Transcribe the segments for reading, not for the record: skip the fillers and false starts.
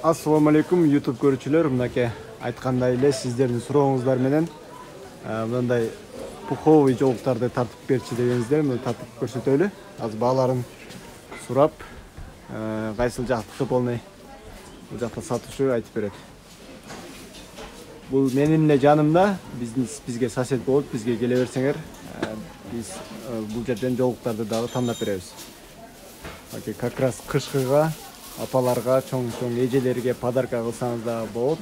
Assalamu alaikum YouTube көрүүчүлөр. Мынакей айткандай эле сиздердин сурооңуздар менен мындай пуховый жолуктарды тартып берчи дегениңиздер, муну тартып көрсөтөлү. Азыр бааларын сурап, кайсыл жактыкы полный бул жакта сатуучу айтып берет. Бул менин эле жанымда, бизге сосед болуп, бизге келе берсеңер, биз бул жерден жолуктарды дагы тандап беребиз. Как раз кышкыга, апаларга, чоң эжелерге подарка кылсаңыз дагы болот.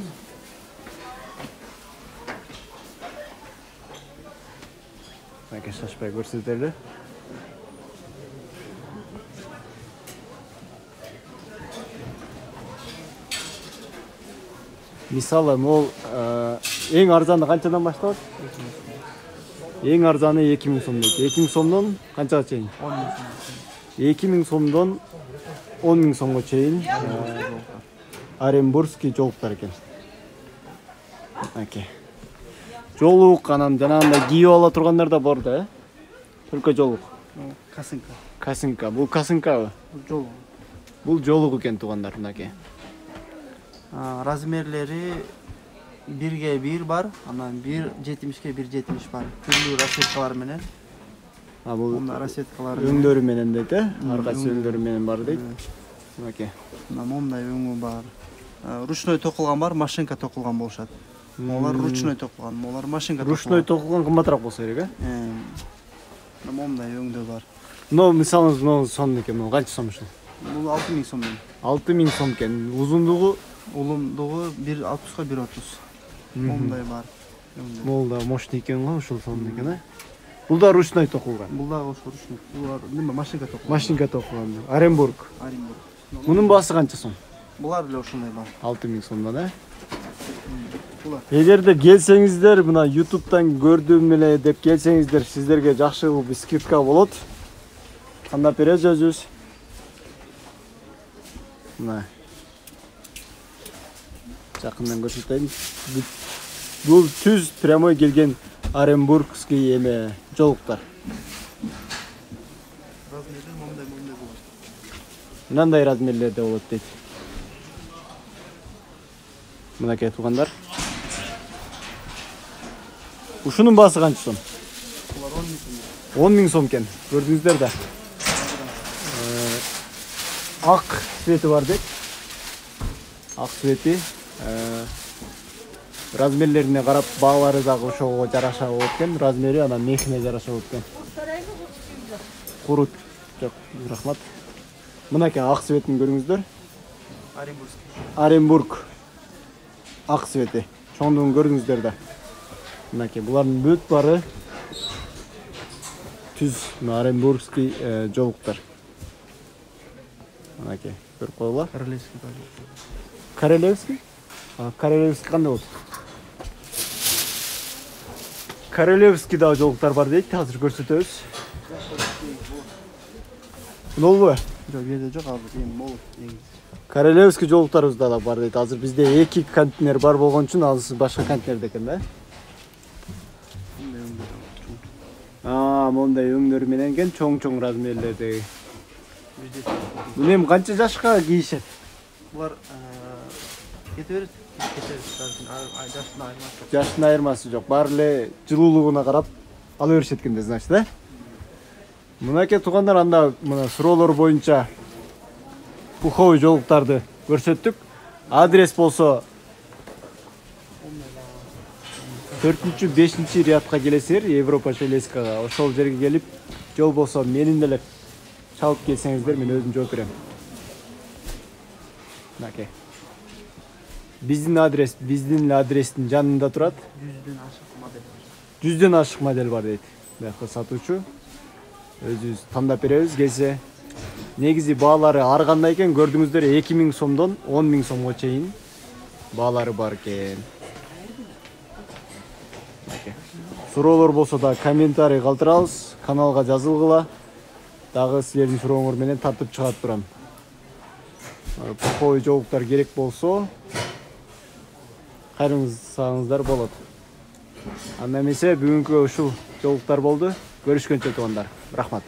Мынакей шашпай көрсөтөлү. Мисалы, могул эң арзаны канчадан башталат? Эң арзаны 2000 сом дейт. 2000 сомдон канчага чейин? 2000 сомдон 10.000 сомго чейин Оренбургский жолуктар экен. Окей. Жолук анан жанагындай кийип ала тургандар да бар да, Только жолук. Касынка. Касынка. Бул касынкабы? Бул жолук. Бул жолук экен туугандар, мынакей. Размерлери 1ге 1 бар, анан 1.70ге 1.70 бар. Түрлүү расчеткалар менен. Бул расчеткалар өңдөрү менен дейт, ар кайсы өңдөрү менен бар дейт. Мынакей. Момундай өңү бар. Ручной токулган бар, машинка токулган болушат. Олар ручной токулган, олар машинка токулган. Ручной токулган кымбатыраак болсо керек, Момундай өңдө бар. Но мисалы, сом экен, бул канча сом ушул? Бул 6000 сом. 6000 сом экен. Узундугу 1.60га 1.30. Момундай бар. Могул да мощный экен го, ушул сом экен, Бул да ручной токулган. Бул да ошо ручной. Булар машинка токулган. Машинка токулган. Оренбург. Мунун баасы канча сом? Булар эле ошондой бар. 6000 сомдон, Эгерде келсеңиздер, мына YouTube'дан көрдүм эле деп келсеңиздер, сиздерге жакшы бир скидка болот. Тандап беребиз өзүбүз. Мына. Жакындан көрсөтөйүн. Бул түз прямой келген Оренбургский эме жолуктар. Размери момундай болот. Мындай размерлерде болот дейт. Мынакей туугандар. Ушунун баасы канча сом? Булар 10.000 10.000 сом. сом экен. Көрдүңүздөр да. Ак цвети бар дейт. Ак цвети. Размерлерине карап, баалары дагы ошого жараша болот экен. Размери анан мехине жараша болот экен. Курут. Жок, рахмат. Мынакей ак цветин көрүңүздөр. Оренбург. Ак цвети. Чоңдугун көрдүңүздөр да. Мынакей булардын бүт бары түз Оренбургский жолуктар. Мынакей, көрүп коелу. Королевский? Королевский кандай болот? Королевский да жолуктар бар дейт, азыр көрсөтөбүз. Нолбу? Жок, жерде жок, азыр эми болот. Королевский жолуктарыбызда да бар дейт. Азыр бизде 2 контейнер бар болгон үчүн, азыр башка контейнерде экен да. Мондай өңдөрү менен экен, чоң размерлердеги. Бул эми канча жашка кийишет? Булар кете берет. Жаштын айырмасы жок. Баары эле жылуулугуна карап ала беришет экен да, значит, да? Мынакей туугандар, анда мына суроолор боюнча пуховый жолуктарды көрсөттүк. Адрес болсо 4-5 рядка келесиңер, Европа Железкага. Ошол жерге келип, жол болсо менин деле чалып келсеңиздер, мен өзүм жооп берем. Мынакей. Биздин адрестин жанында турат. 100дөн ашык модель бар дейт. Бияка сатуучу. Өзүбүз тандап беребиз келсе. Негизи баалары ар кандай экен, көрдүңүздөр, 2000 сомдон 10.000 сомго чейин баалары бар экен. Суроолор болсо да комментарий калтырабыз, каналга жазылгыла. Дагы силердин сурооңор менен тартып чыгарып турам. Пуховый жолуктар керек болсо, кайрылсаңыздар болот. Анда эмесе бүгүнкү ушул жолуктар болду. Көрүшкөнчө туугандар. Рахмат.